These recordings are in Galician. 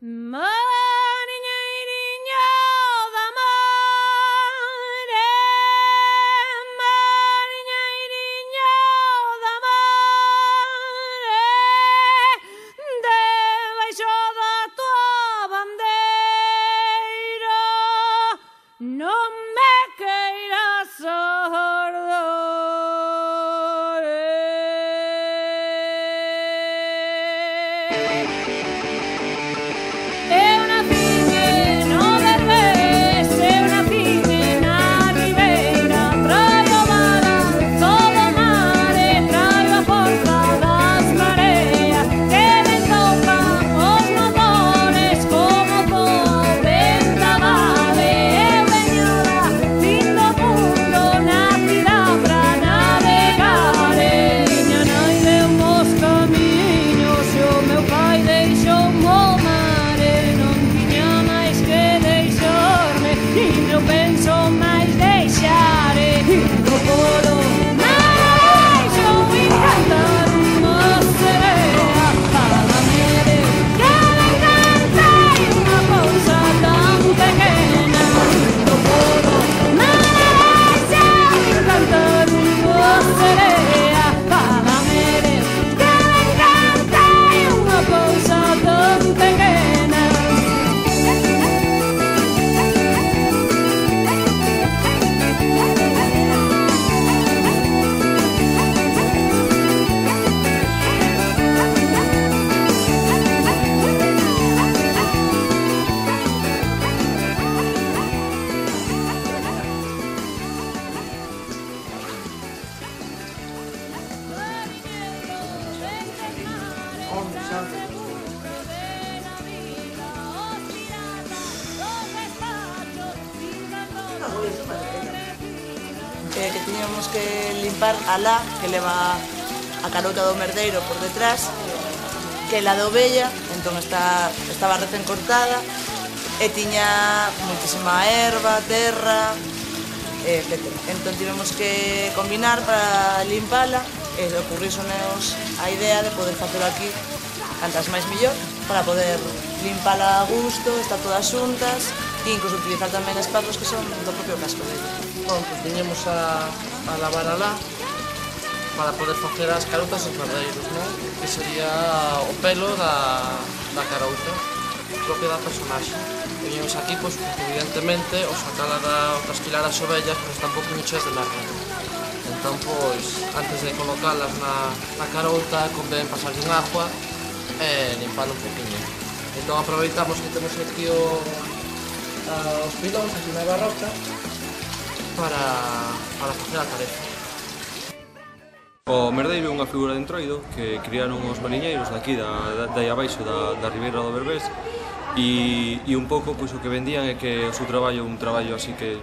Mariñeiriño da mare, mariñeiriño da mare, debaixo da tua bandeira non me queiras sordo. Que tiñamos que limpar a la que leva a carota do merdeiro por detrás, que la de ovella, entón estaba recén cortada e tiña moitísima erva, terra, etc. Entón tivemos que combinar para limpala e ocurrísonos a idea de poder facelo aquí cantas máis millor para poder limpala a gusto, estar todas xuntas e incluso utilizar tamén espazos que son do propio casco dele. Bom, pues viñemos a lavar alá para poder facer as carotas dos merdeiros, non? Que sería o pelo da carota, propia da personaxe. Viñemos aquí, pois, porque evidentemente, o sacala o trasquilar as ovellas, pois están un poquinho cheas de merda. Entón, pois, antes de colocalas na carota, convén pasarlle un agua e limpalo un poquinho. Entón aproveitamos que temos aquí os pilóns, aquí na barroca, para facer a tarefa. O merdeiro é unha figura de entroido que criaron os mariñeiros daqui, dai abaixo da Ribeira do Berbés e un pouco pois, o que vendían é que o seu traballo é un traballo así que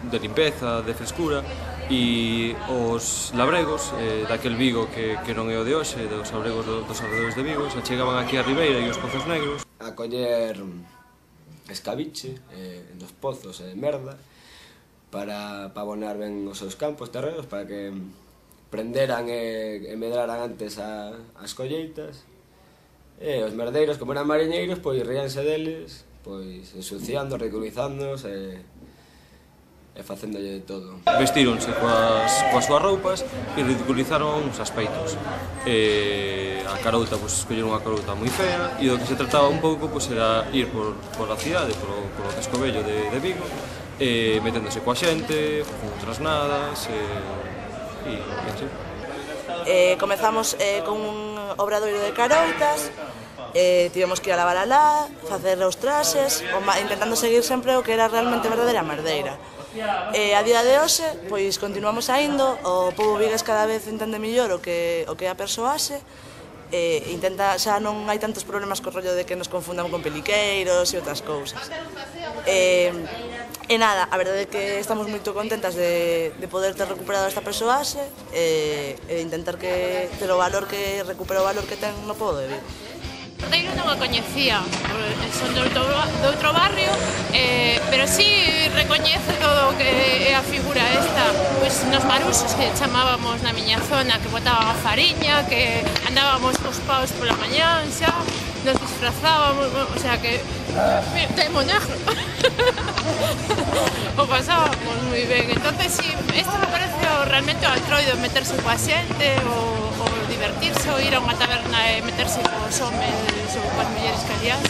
de limpeza, de frescura e os labregos daquel Vigo que non é o de hoxe, dos labregos dos alrededores de Vigo, se chegaban aquí a Ribeira e os pozos negros a coller escabiche nos pozos e merda para abonar ben os seus campos terrenos, para que prenderan e medraran antes as colleitas. E os merdeiros, como eran mariñeiros, pois ríanse deles, pois ensuciando, ridiculizándonos e facéndolle de todo. Vestíronse coas súas roupas e ridiculizaron os aspeitos. A carota, pois, escolleron unha carota moi fea e do que se trataba un pouco pois, era ir por a cidade, por o casco vello de Vigo, meténdose coa xente, facendo trasnadas e así. Comezamos con un obradoiro de carotas, tivemos que ir a lavar alá, facer os traxes, intentando seguir sempre o que era realmente verdadeira merdeira. A día de hoxe, pois continuamos aindo, o pobo vigués cada vez entende mellor o que é a persoaxe, xa non hai tantos problemas co rollo de que nos confundan con peliqueiros e outras cousas. E nada, a verdade é que estamos moito contentas de poder ter recuperado esta persoaxe e de intentar ter o valor que recupera o valor que ten no pobo de Vigo. Merdeiro non a coñecía, son de outro barrio, pero sí recoñece todo o que é a figura esta. Pois nos maruxos que chamábamos na miña zona, que botaban a fariña, que andábamos cos paus pola mañán xa, nos disfrazábamos, o sea que temo negro. O pasábamos moi ben. Entonces, sí, isto me parece realmente o Antroido, meterse coa xente, o divertirse, o ir a unha taberna e meterse cos homes ou coas mulleres que aliás,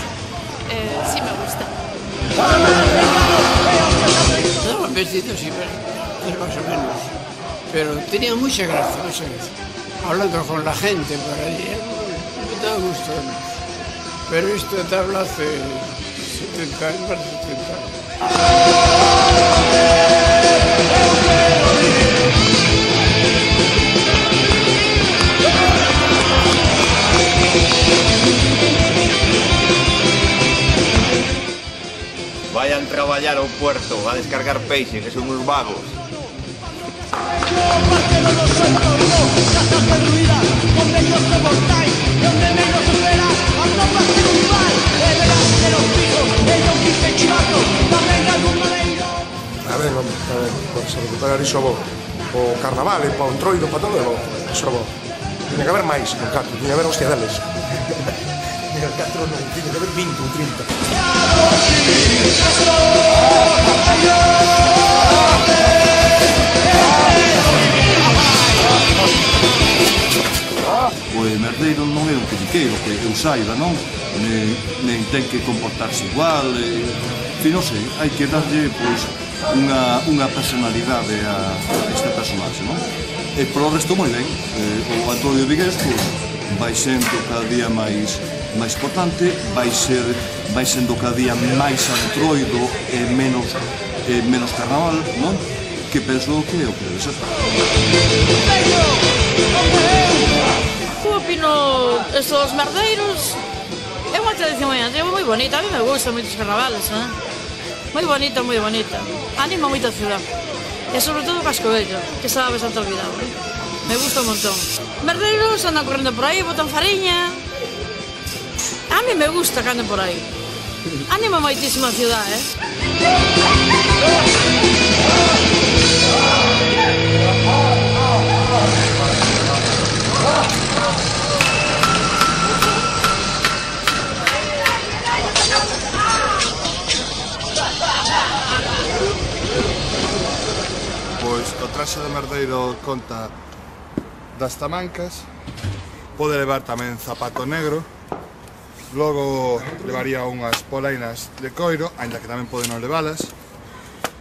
sí me gusta. Estaban vestidos y más o menos, pero tenían mucha gracia, hablando con la gente por allí, me daba gusto. Pero esto te habla hace 70 años, más de 70 años. Vayan traballar ao puerto a descargar peixe, que son uns vagos. A ver, pues se recuperar iso bo. O carnaval, e pa o Entroido, pa todo, iso bo. Tiña que haber máis, con catro, tiña que haber hostia deles. Tiña que catro non, tiña que haber 20 ou 30. O merdeiro non é un peliqueiro, que eu saiba, non? Nem ten que comportarse igual, non sei, hai que darlle, pois, unha personalidade a este personaxe, non? E polo resto moi ben, o Antonio Vigués, pois, vai sendo cada día máis importante, vai sendo cada día máis Antroido e menos carnaval, non? Que penso que é o que debe ser. Eu opino, estos merdeiros é unha tradición moi bonita, a mí me gusta moitos carnavales, moi bonita, moi bonita, anima moito a ciudad, e sobre todo o Cascovello, que estaba bastante olvidado, me gusta un montón. Merdeiros andan correndo por aí, botan fariña, a mí me gusta que anden por aí, anima moitísimo a ciudad, Pois o traxe de merdeiro conta das tamancas, pode levar tamén zapato negro, logo levaría unhas polainas de coiro, aínda que tamén pode non levalas,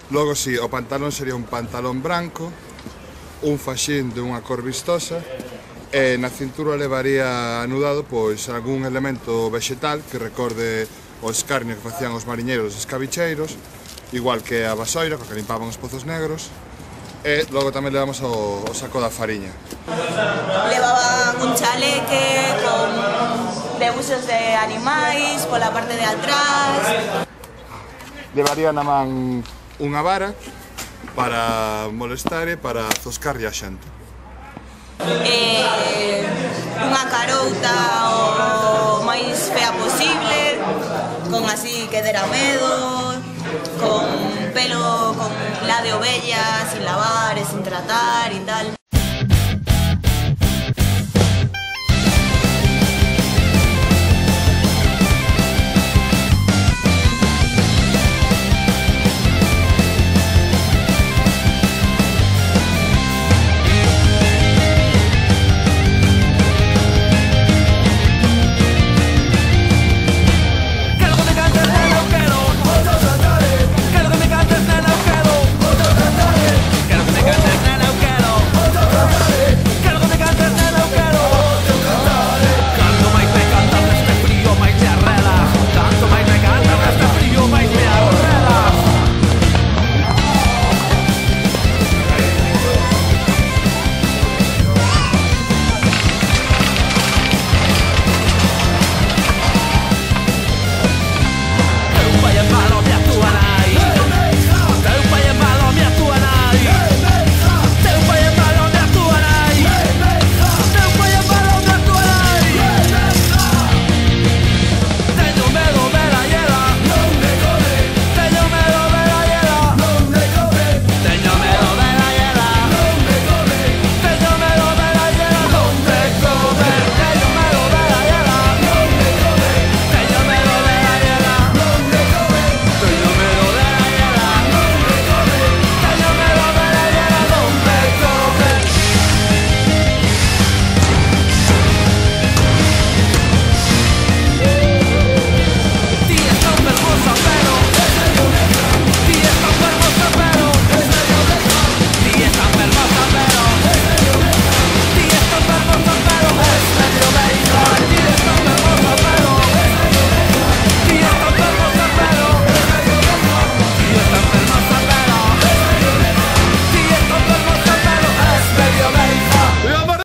logo si, o pantalón sería un pantalón branco, un faxín de unha cor vistosa, e na cintura levaría anudado pois algún elemento vexetal que recorde o escarnio que facían os mariñeiros os escabicheiros, igual que a vasoira, co que limpaban os pozos negros, e logo tamén levamos o saco da fariña. Levaban un chaleque con debuxos de animais pola parte de atrás. Levaría na man unha vara para molestar e para zoscarlle a xente. Unha carouta o máis fea posible, con así que dera medo, con pelo con la de ovella, sin lavar e sin tratar e tal.